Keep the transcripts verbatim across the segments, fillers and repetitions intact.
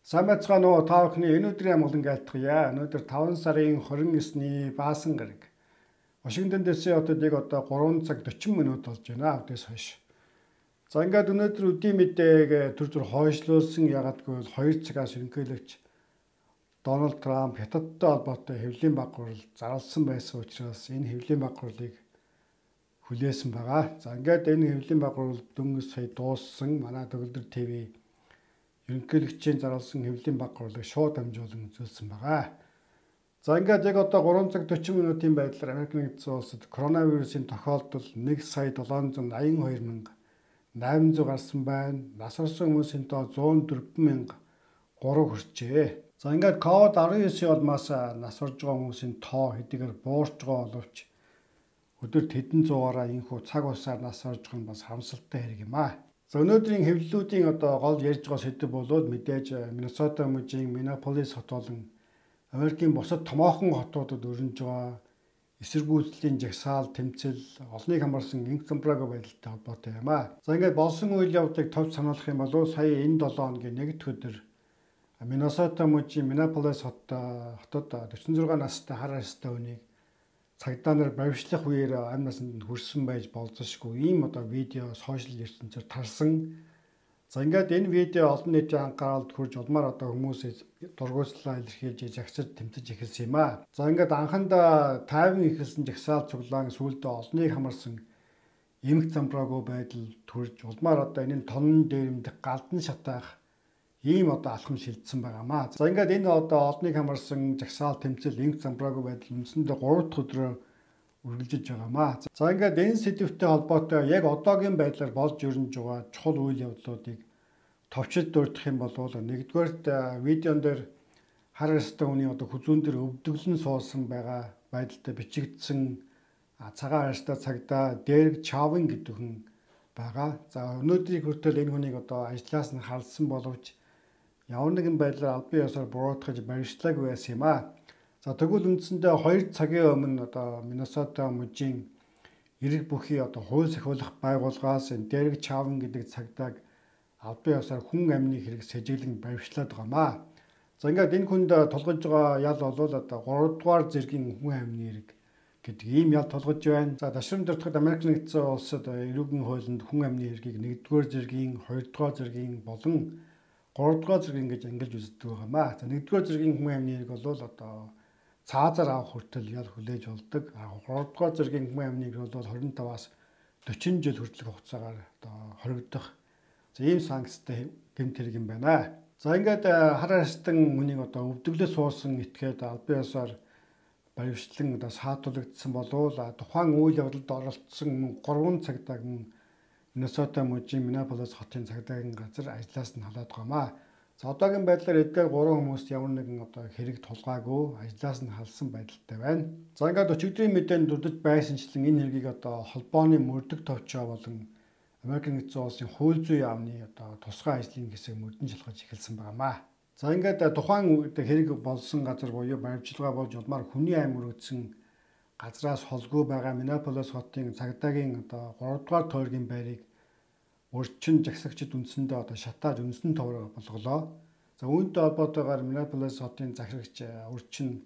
Сайн байцгаана уу та бүхний энэ өдрийн амгалан айлтгая. Өнөөдөр таван сарын хорин эсний баасан гараг. Вашингтон ди си хотод яг одоо гурван цаг дөрвөн минут болж байна. Өдөөс хойш. За ингээд өнөөдөр өдийн мэдээг төр төр хойшлуулсан ягдгүй хоёр цагаас ерөнхийлөгч Дональд Трамп Хятадтай холбоотой хэвлэлийн баг гурал зарласан байсан учраас энэ хэвлэлийн баг гуралыг хүлээсэн байгаа. За ингээд энэ хэвлэлийн баг гурал дөнгөж сая дууссан. Манай Төгөлдөр ТV ерөнхийлөгчийн зарласан хэвлэлийн баг гурлыг шууд дамжуулан үзүүлсэн байгаа. За ингээд яг одоо гурван цаг дөрвөн минутын байдлаар Америк нэгдсэн улсад коронавирусын тохиолдол нэг сая долоон зуун аян хоёр мянга найман зуун гарсан байна. Нас орсон хүмүүсийн тоо зуун дөрвөн мянга гурав хүрчээ. За ингээд ковид арван девять улмаас нас орж байгаа хүмүүсийн тоо хэдийгээр буурч байгаа боловч өдөрт хэдэн зугаараа энэхүү цаг усаар нас орж байгаа нь бас харамсалтай хэрэг юм аа. За өнөөдрийн хэвлэлүүдийн одоо гол ярьж байгаа сэдэв бол мэдээж Миннесота мужийн Миннеаполис хот болон Америкийн бусад томоохон хотуудад өрнөж байгаа эсэргүүцлийн жагсаал тэмцэл олныг хамарсан инх замбрааг байдалтай холбоотой юм аа. За ингээд болсон үйл явдлыг товч сануулах юм бол сая энэ долоо хоногийн нэгдүгээр өдөр Миннесота мужийн Миннеаполис хот хотод дөрвөн зургаан настай хар арьстай хүнийг цагдаа нар баривчлах үеэр амь насанд хүрсэн байж болзошгүй ийм одоо видео сошиал ертөнцөөр тарсан. За ингээд энэ видео олон нийтийн анхааралд хүрж улмаар одоо хүмүүсээс дургуйслаа илэрхийлж жагсаж тэмцэж эхэлсэн юм аа. За ингээд анхандаа тайван эхэлсэн жагсаал цуглаан сүүлдээ олныг хамарсан эмх замбраагүй байдал төрж улмаар одоо энэ тонн дээрэмдэх галдан шатаах ийм одоо алхам шилжсэн байгаамаа. За ингээд энэ одоо олныг хамарсан жагсаал тэмцэл инх замбраагүй байдал үндсэндээ гурав дахь өдрөө үргэлжилж байгаамаа. За ингээд энэ сэдвтэй холбоотой яг одоогийн байдлаар болж өрнөж байгаа чухал үйл явдлуудыг товчид дурдах юм бол нэгдүгээрт видеон дээр хар арьстай хүний одоо хүзүүн дээр өвдөглөн суусан байгаа байдалтай бичигдсэн цагаан арьстай цагдаа Дерек Чавин гэдэг хүн байгаа. За өнөөдрийг хүртэл энэ хүнийг одоо ажлаас нь халсан боловч ямар нэгэн байдлаар албан ёсоор буруутгаж баримтлаагүй байсан юм аа. За тэгвэл үндсэндээ хоёр цагийн өмнө одоо Миннесота мужийн эрэг бүхий одоо хууль сахиулах байгууллагаас Дерек Чавин гэдэг цагдааг албан ёсоор хүн амны хэрэг сэжиглэн баримтлаад байгаамаа. За ингээд энэ хүнд тулгаж байгаа ял бол одоо гурав дугаар зэргийн хүн амны хэрэг гэдэг ийм ял тулгаж байна. За дашрам дуртахад Америк нэгдсэн улсад эрүүгийн хуулинд хүн амны хэргийг нэгдүгээр зэргийн, хоёрдугаар зэргийн болон гуравдугаар зэргийн гэж ангилж үздэг байгаамаа. За нэгдүгээр зэргийн хүн амны хэрэг бол одоо цаазаар авах хүртэл ял хүлээж болдог. гуравдугаар зэргийн хүн амны хэрэг бол хорин таваас дөрвөн жил хүртэлх хугацаагаар одоо хоригдох ийм санкцтай гэмт хэрэг юм байна. За ингээд хар арьстан хүнийг одоо өвдөглөө суусан этгээд албан ёсоор баривчлан одоо саатуулагдсан болвол тухайн үйл явдалд оролцсон гурван цагдааг Миннесота мужийн Миннеаполис хотын цагдаагийн газар ажлаас нь халаад байгаамаа. За одоогийн байдлаар эдгээр гурван хүмүүст ямар нэгэн одоо хэрэг тулгаагүй ажлаас нь халсан байдалтай байна. За ингээд өчигдрийн мэдээнд дурдж байсанчлан энэ хэргийг одоо холбооны мөрдөх товчоо болон Америк нэгдсэн улсын хууль зүйн яамны одоо тусгай ажлын хэсэг мөрдөн шалгаж эхэлсэн байгаамаа. За ингээд тухайн хэрэг болсон газар буюу баримтчилгаа болж улмаар хүний амь өргөдсөн газраас холгүй байгаа Миннеаполис хотын цагдаагийн одоо гурав дугаар тойргийн байрыг өрчин жагсагчид үндсэндээ одоо шатааж үнсэн товроо болголоо. За үүнтэй холбоотойгоор Миннеаполис хотын захирагч өрчин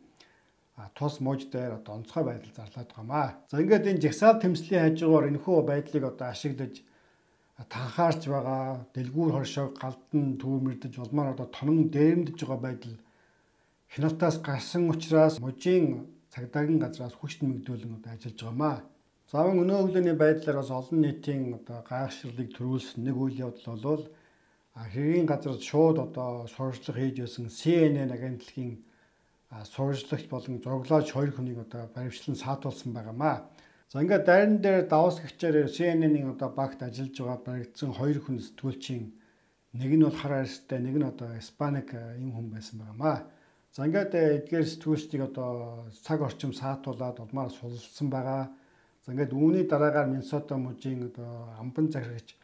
тус мууж дээр одоо онцгой байдал зарлаад байгаамаа. За ингээд энэ жагсаал тэмцлийн хажуугаар энэхүү байдлыг одоо ашиглаж танхаарч байгаа дэлгүүр хоршоог галдан түүмэрдэж улмаар одоо тонон дээрэмдэж байгаа байдал хяналтаас гарсан учраас мужийн цагдаагийн газраас хүч нэмэгдүүлэн одоо ажиллаж байгаамаа. За өнөө өглөөний байдлаар бас олон нийтийн одоо гайхширлыг төрүүлсэн нэг үйл явдал бол хэргийн газар шууд одоо сурвалжлага хийж байсан Си Эн Эн агентлагийн сурвалжлагч болон зураглаач хоёр хүнийг одоо баривчлан саатуулсан байгаамаа. За ингээд дайран дээр даваас гихчээр Си Эн Эн-ийн одоо багт ажиллаж байгаа баригдсан хоёр хүн сэтгүүлчийн нэг нь бол хар арьстай, нэг нь одоо Испаник юм хүн байсан байгаамаа. За ингээд эдгээр сэтгүүлчдийг одоо цаг орчим саатуулаад улмаар сулсан байгаа. За ингээд үүний дараагаар Миннесота мужийн одоо амбан захирагч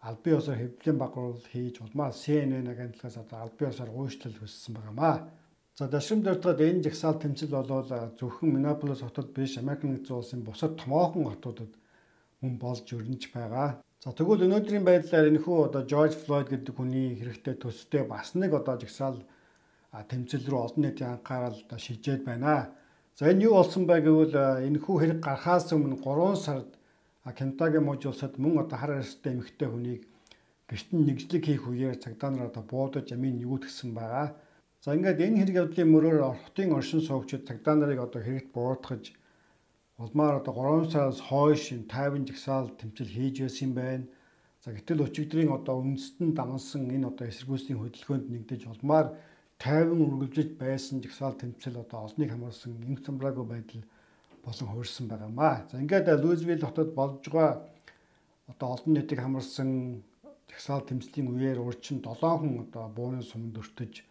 албан ёсоор хэвлэлийн баг гурал хийж улмаар Си Эн Эн агентлагаас одоо албан ёсоор гүйцэтгэл хүссэн байгаамаа. За дашрам дуртахад энэ жагсаал тэмцэл болвол зөвхөн Миннеаполис хотод биш Америк нэгдсэн улсын бусад томоохон хотуудад хүн болж өрнөж байгаа. За тэгвэл өнөөдрийн байдлаар энэхүү одоо George Floyd гэдэг хүний хэрэгтэй төстэй бас нэг одоо жагсаал тэмцэл рүү олон нийтийн анхаарал одоо шилжээд байна. За энэ юу болсон бэ гэвэл энэхүү хэрэг гарахаас өмнө гурван сард Кентаки мужи улсад мөн одоо хар арьстай эмэгтэй хүнийг гэрт нь нэгжлэг хийх үеэр цагдаа нар одоо буудаж амийн нэгүүлгсэн байгаа. За ингээд энэ хэрэг явдлын мөрөөр хотын оршин суугчид цагдаа нарыг одоо хэрэгт бууртгаж улмаар одоо гурван сараас хойш тайван жагсаал тэмцэл хийж байсан юм байна. За гэтэл өчигдрийн одоо үндэстэн дамнсан энэ одоо эсэргүүцлийн хөдөлгөөнд нэгдэж улмаар тайван үргэлжлэж байсан жагсаал тэмцэл одоо олныг хамаарсан эмх замбраагүй байдал болон хувирсан байгаамаа. За ингээд Луйсвилл хотод болж байгаа одоо олон нийтийг хамарсан жагсаал тэмцлийн үеэр урьдчилан долоон хүн одоо бууны суманд өртөж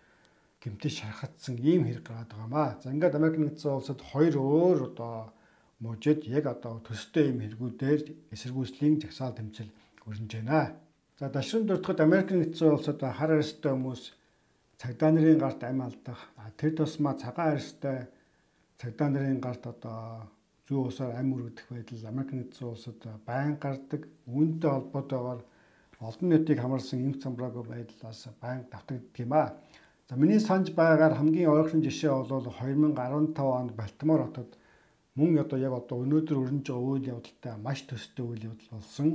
гэмтэж шархагдсан ийм хэрэг гараад байгаамаа. За ингээд Америк нэгдсэн улсад хоёр өөр одоо мужид яг одоо төстэй ийм хэрэгүүдээр эсэргүүцлийн жагсаал тэмцэл өрнөж байна. За дашрын дуртахад Америк нэгдсэн улсад хар арьстай хүмүүс цагдаа нарын гарт амь алдах, тэр тусмаа цагаан арьстай цагдаа нарын гарт одоо зүү усаар амь үргэх байдал Америк нэгдсэн улсад байнга гардаг. Үүнтэй холбоотойгоор олон нийтийг хамарсан эмх замбраагүй байдлаас байнга давтагддаг юм аа. За миний санаж байгаагаар хамгийн ойрхон жишээ бол хоёр мянга арван тав онд Балтимор хотод мөн одоо яг одоо өнөөдөр өрнөж байгаа үйл явдалтай маш төстэй үйл явдал болсон.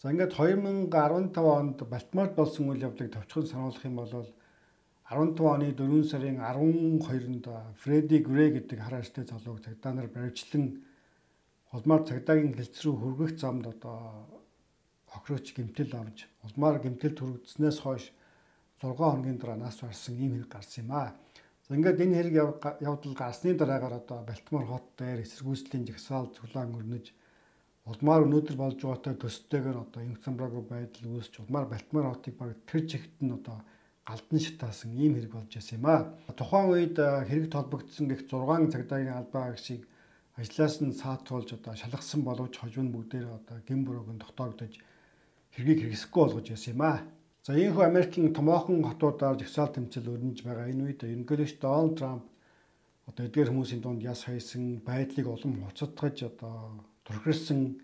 За ингээд хоёр мянга арван тав онд Балтиморт болсон үйл явдлыг товчхон сануулах юм бол арван тав оны дөрвөн сарын арван хоёрнд Фредди Грей гэдэг хар арьстай залууг цагдаа нар баривчлан улмаар цагдаагийн хэлц рүү хүргэх замд одоо хохирооч гэмтэл авч улмаар гэмтэлд хүргэснээс хойш зургаан хоногийн дараа нас барсан ийм хэрэг гарсан юм аа. За ингээд энэ хэрэг явдал гарсны дараагаар одоо Балтимор хот дээр эсэргүүцлийн жагсаал цуглаан өрнөж улмаар өнөөдөр болж байгаатай төстэйгээр одоо эмх замбраагүй байдал үүсч улмаар Балтимор хотыг баг тэр чигт нь одоо галдан шатаасан ийм хэрэг болж байсан юм аа. Тухайн үед хэрэг толбогдсон гэх зургаан цагдаагийн албаа агшийг ажлаас нь саатуулж одоо шалгасан боловч хожим нь бүгдээр одоо гэм бүрөөнд дотоогдож хэргийг хэрэгсэхгүй болгож байсан юм аа. За ийхүү Америкийн томоохон хотуудаар жагсаал тэмцэл өрнөж байгаа энэ үед ерөнхийлөгч Дональд Трамп одоо эдгээр хүмүүсийн дунд яс хайсан байдлыг улам хуцадгаж одоо турхирсан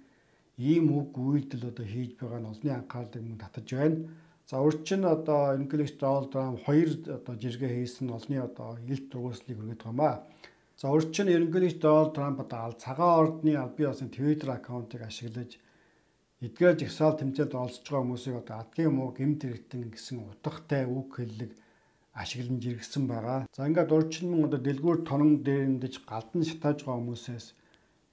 ийм үг үйлдэл одоо хийж байгаа нь олонний анхаарлыг мөн татаж байна. За урьдчилан одоо ерөнхийлөгч Дональд Трамп хоёр одоо жиргээ хийсэн олонний одоо илт тургуулсныг хүргэж байгаамаа. За урьдчилан ерөнхийлөгч Дональд Трамп одоо цагаан ордны аль бие усны Twitter аккаунтыг ашиглаж эдгээр жагсаал тэмцээлд оролцож байгаа хүмүүсийг одоо адгийн муу гэмт хэрэгтэн гэсэн утгатай үг хэллэг ашиглан жиргсэн байгаа. За ингээд урьдчилан одоо дэлгүүр тонон дээрэмдэж галдан шатааж байгаа хүмүүсээс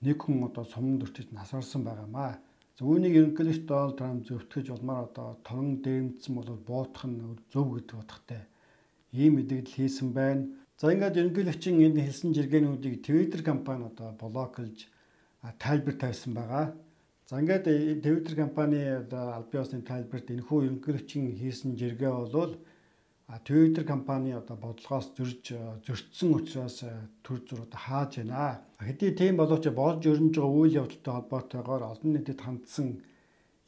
нэг хүн одоо суманд өртөж насарсан байгаамаа. За үүнийг ерөнхийлөгч Дональд Трамп зөвтгөж улмаар одоо тонон дээрэмдсэн бол буутах нь зөв гэдэг утгатай ийм мэдээлэл хийсэн байна. За ингээд ерөнхийлөгчийн энэ хэлсэн жиргээнүүдийг Twitter компани одоо блоклж тайлбар тавьсан байгаа. За ингээд Twitter компани аль бие усны тайлбарт энэхүү ерөнхийлөгчийн хийсэн жиргээ бол Twitter компани одоо бодлогоос зөрж зөрчсөн учраас төр зүр одоо хааж байна. Хэдий тийм боловч болж өрнөж байгаа үйл явдалтай холбоотойгоор олон нийтэд хандсан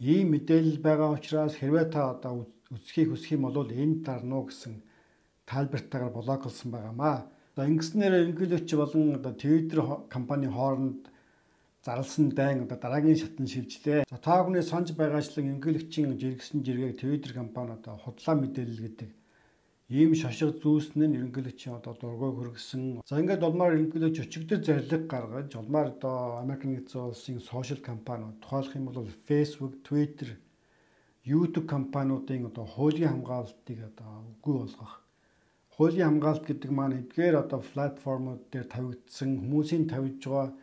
ийм мэдээлэл байгаа учраас хэрвээ та одоо үсхийг хүсэх юм бол энд дарна уу гэсэн тайлбартаагаар блоклсон байгаамаа. За ингэснээр ерөнхийлөгч болон одоо Twitter компани хооронд зарласан дайн одоо дараагийн шатанд шилжлээ. За та бүхний санаж байгаачлан ерөнхийлөгчийн жиргсэн жиргээг Twitter компани одоо худлаа мэдээлэл гэдэг ийм шошго зүүснэ нь ерөнхийлөгчийн одоо дургуйг хүргэсэн. За ингээд улмаар ерөнхийлөгч өчигдөр зарлиг гаргаж улмаар одоо Америк нэгдсэн улсын сошиал компаниуд тухайлах юм бол Facebook, Twitter, YouTube компаниудын одоо хуулийн хамгаалалтыг одоо үгүй болгох. Хуулийн хамгаалалт гэдэг маань эдгээр одоо платформуд дээр тавигдсан хүмүүсийн тавьж байгаа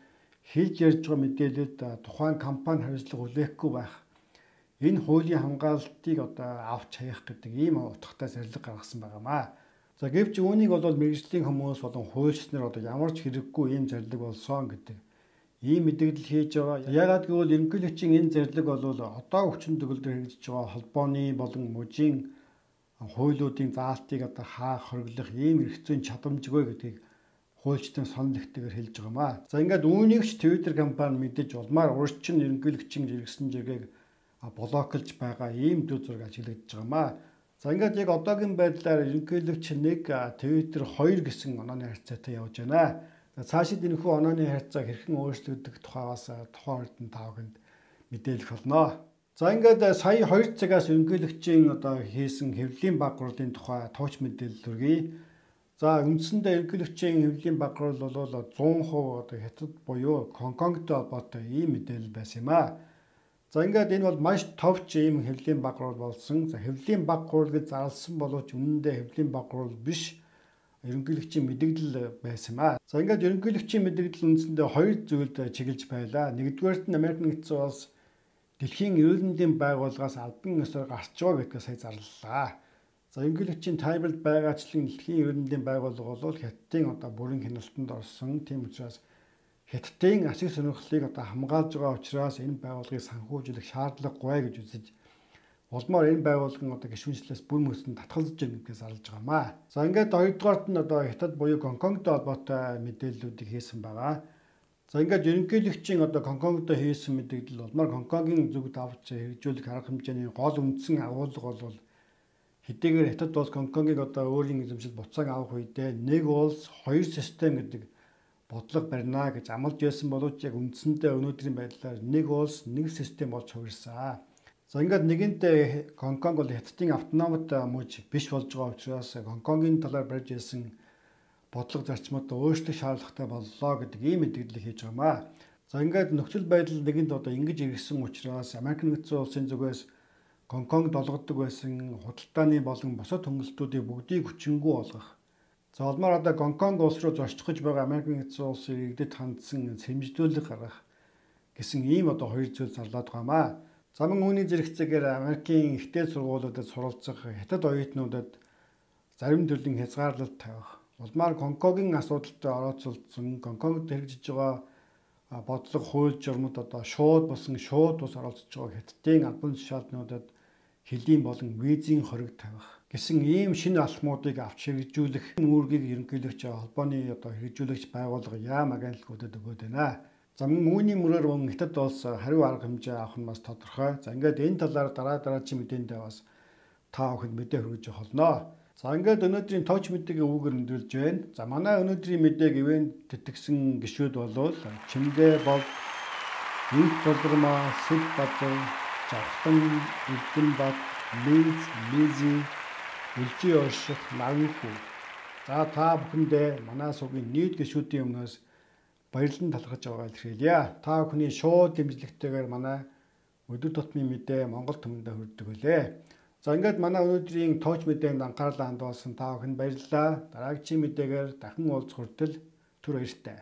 хийж ярьж байгаа мэдээлэлд тухайн компани хариуцлага хүлээхгүй байх. Энэ хуулийн хамгаалалтыг одоо авч хаях гэдэг ийм утгатай зарлиг гаргасан байгаамаа. За гэвч үүнийг бол мэргэжлийн хүмүүс болон хуульч нар одоо ямар ч хэрэггүй ийм зарлиг болсон гэдэг ийм мэдээлэл хийж байгаа. Яагаад гэвэл ерөнхийлөгчийн энэ зарлиг бол одоо хүчин төгөлдөр хэрэгжиж байгаа холбооны болон мужийн хуулиудын заалтыг одоо хаах, хориглох ийм эрх зүйн чадамжгүй гэдгийг хуульчдын сонол ихтэйгээр хэлж байгаамаа. За ингээд үүнийг ч Twitter компани мэдэж улмаар урьдчилан ерөнхийлөгчийн жиргсэн жиргээг блоклж байгаа ийм дүр зураг ажиглагдж байгаамаа. За ингээд яг одоогийн байдлаар ерөнхийлөгч нэг Twitter хоёр гэсэн онооны харьцаатай явж байна. За цаашид энэхүү онооны харьцааг хэрхэн өөрчлөгдөх тухайгаас тухайн ордон тавганд мэдээлэх болно. За ингээд сая хоёр цагаас ерөнхийлөгчийн одоо хийсэн хэвлэлийн баг хурлын тухай товч мэдээлэл хүргэе. За үндсэндээ ерөнхийлөгчийн хэвлэлийн баг хурл бол зуун хувь одоо хятад буюу Гонконгтой холбоотой ийм мэдээлэл байсан юм аа. За ингээд энэ бол маш товч ийм хэвлэлийн баг хурл болсон. За хэвлэлийн баг хурл гэж зарласан боловч үнэндээ хэвлэлийн баг хурл биш. Ерөнхийлөгчийн мэдээлэл байсан юм аа. За ингээд ерөнхийлөгчийн мэдээлэл үндсэндээ хоёр зүйлд чиглэж байлаа. Нэгдүгээрт нь Америк нэгдсэн улс Дэлхийн эрүүл мэндийн байгууллагаас албан ёсоор гарч байгаа гэдгээ сая зарлалаа. За ерөнхийлөгчийн тайлбарт байгаачлан Дэлхийн эрүүл мэндийн байгууллага бол Хятадын одоо бүрэн хяналтанд орсон. Тийм учраас Хятадын ашиг сонирхлыг одоо хамгаалж байгаа учраас энэ байгууллагыг санхүүжүүлэх шаардлагагүй гэж үзэж улмаар энэ байгууллагын одоо гишүүнчлээс бүр мөсөнд татгалзаж байгаа гэдгээ зарлаж байгаамаа. За ингээд хоёрдугаарт нь одоо Хятад буюу Гонконгтой холбоотой мэдээллүүдийг хийсэн байгаа. За ингээд ерөнхийлөгчийн одоо Гонконгтой хийсэн мэдээлэл болмаар Гонконгийн зүг давж хэрэгжүүлэх арга хэмжээний гол үндсэн агуулга бол хэдийгээр Хятад улс Гонконгийг одоо өөрийн эзэмшил буцааг авах үедээ нэг улс хоёр систем гэдэг бодлого барина гэж амлаж байсан боловч яг үндсэндээ өнөөдрийн байдлаар нэг улс нэг систем болж хувирсан. За ингээд нэгэнтээ Гонконг бол Хятадын автономит мужи биш болж байгаа учраас Гонконгийн талаар барьж ирсэн бодлого зарчмууд өөрчлөх шаардлагатай боллоо гэдэг ийм мэдээлэл хийж байгаамаа. За ингээд нөхцөл байдал нэгэнд одоо ингэж иргэсэн учраас Америк нэгдсэн улсын зүгээс Гонконгд олгодог байсан худалдааны болон бусад хөнгөлөлтүүдийг бүгдийг хүчингүй болгох. За олмоор одоо Гонконг улс руу зорчихож байгаа Америк нэгдсэн улсыг иргэдэд хандсан сэрэмжлүүлэг гаргах гэсэн ийм одоо хоёр зүйл зарлаад байгаамаа. За мөн үүний зэрэгцээгээр Америкийн ихтэй сургуулиудад суралцах Хятад оюутнуудад зарим төрлийн хязгаарлалт тавих. Улмаар Гонконгийн асуудалтай орооцолдсон Гонконгд хэрэгжиж байгаа бодлого хууль журмууд одоо шууд болсон шууд ус оролцож байгаа Хятадын албан тушаалтнуудад хөлийн болон визийн хориг тавих гэсэн ийм шинэ алхмуудыг авч хэрэгжүүлэх үүргийг ерөнхийлөгч холбооны одоо хэрэгжүүлэгч байгууллага яам агентлагуудад өгөөд байна. За мөн үүний мөрөөр мөн Хятад улс хариу арга хэмжээ авах нь бас тодорхой. За ингээд энэ талаар дараа дараагийн мэдээндээ бас та бүхэнд мэдээ хүргэж болно. За ингээд өнөөдрийн товч мэдээгээ үүгээр өндөрлж байна. За манай өнөөдрийн мэдээг ивент тэтгэсэн гишүүд бол Чимдээ бол Инх Болормоо, Сэд Базар, Жавхан, Эрдэнэбат, Линз, Лизи, Үлжи Орших, Наранхүү. За та бүхэндээ манай сувгийн нийт гишүүдийн өмнөөс баярлан талархаж байгааг илэрхийлье. Та бүхний шууд дэмжлэгтэйгээр манай өдөр тутмын мэдээ Монгол түмэндээ хүрдэг үлээ. За ингээд манай өнөөдрийн товч мэдээнд анхаарлаа хандуулсан та бүхэнд баярлалаа. Дараагийн мэдээгээр дахин уулзах хүртэл түр баяртай.